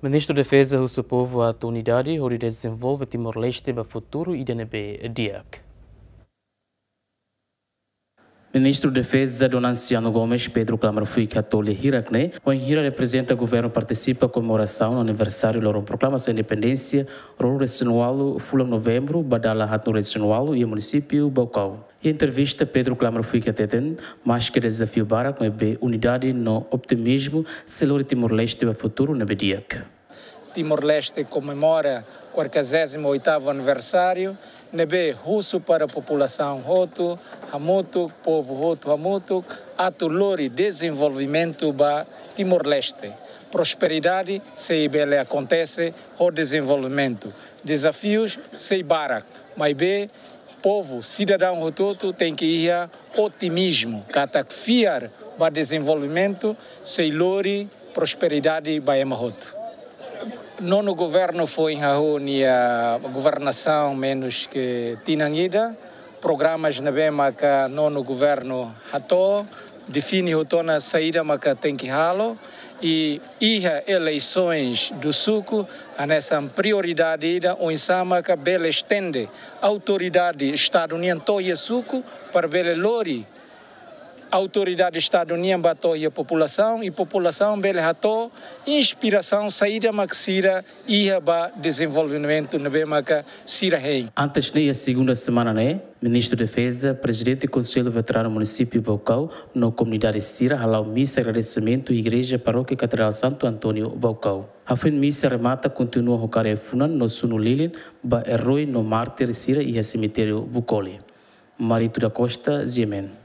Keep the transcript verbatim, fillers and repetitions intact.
Ministru Defeza husu povu atu unidade hodi dezenvolve Timor-Leste ba futuru ida ne'ebé di'ak. Ministru Defeza Dona Anciano Gomes Pedro Klamar Fuik hato'o lia hirak ne'e, wainhira reprezenta governu partisipa komemorasaun aniversáriu loron proklamasaun independénsia ruanulu-resin-ualu fulan Novembru ba dala haatnulu-resin-ualu iha munisípiu Baucau. Iha entrevista Pedro Klamar Fuik hateten, maske dezafiu barak, maibé unidade no otimizmu sei lori Timor-Leste ba futuru ne'ebé di'ak. Timor-Leste komemora quarquagésimo oitavo aniversáriu, ne'ebé husu para populasaun hotu hamutuk, povu hotu hamutuk, atu lori dezenvolvimentu ba Timor-Leste. Prosperidade sei bele akontese ho dezenvolvimentu. Dezafius sei barak, maibé povu, sidadaun hotu-hotu tenke iha otimizmu, katak fiar ba dezenvolvimentu sei lori prosperidade ba ema hotu. Nonu governu foin hahú nia governasaun menus ke tinan ida, programas ne'ebé maka nonu governu hato'o, define hotu ona saida maka tenke halo, i iha eleisoens do suku, hanesan prioridade ida oinsá maka bele estende autoridade Estadu nian to'o iha suku, para bele lori autoridade Estadu nian ba to'o iha populasaun, i populasaun bele hato'o inspirasaun saida maka sira iha ba dezenvolvimentu ne'ebé maka sira hein. Antes ne'e, iha segunda semana ne'e, Ministru Defeza, Prezidente Konsellu Veteranu Munisípiu Baucau, no komunidade sira hala'o misa agradesimentu iha Igreja Parókia Katedrál Santo António Baucau. Hafoin misa remata, kontinua ho kaer ai-funan no sunu lilin ba eroi no mártir sira iha semitériu Bucoli. Marito da Costa, G M N.